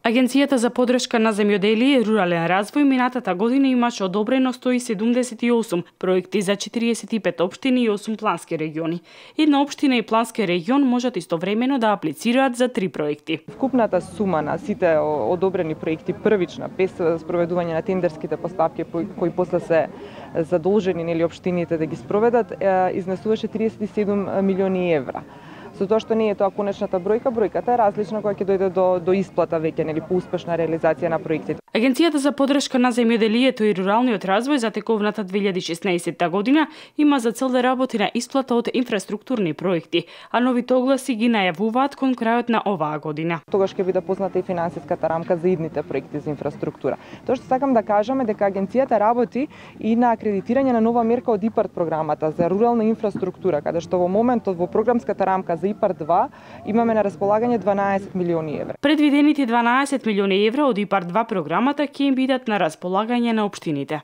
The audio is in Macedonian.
Агенцијата за поддршка на земјоделие и рурален развој минатата година имаше одобрено 178 проекти за 45 општини и 8 плански региони. Една општина и плански регион можат истовремено да аплицираат за 3 проекти. Вкупната сума на сите одобрени проекти првична, без спроведување на тендерските постапки кои после се задолжени нели општините да ги спроведат, изнесуваше 37 милиони евра. Со тоа што не е тоа конечната бројката е различна кога ќе дојде до исплата веќе нели по успешна реализација на проектите. Агенцијата за поддршка на земјоделието и руралниот развој за тековната 2016 година има за цел да работи на исплата од инфраструктурни проекти, а новите огласи ги најавуваат кон крајот на оваа година. Тогаш ќе биде позната и финансиската рамка за идните проекти за инфраструктура. Тоа што сакам да кажам е дека агенцијата работи и на акредитирање на нова мерка од ИПАРД програмата за рурална инфраструктура, каде што во моментот во програмската рамка за ИПАРД 2 имаме на располагање 12 милиони евра. Предвидените 12 милиони евра од ИПАРД 2 програмата ќе им бидат на располагање на општините.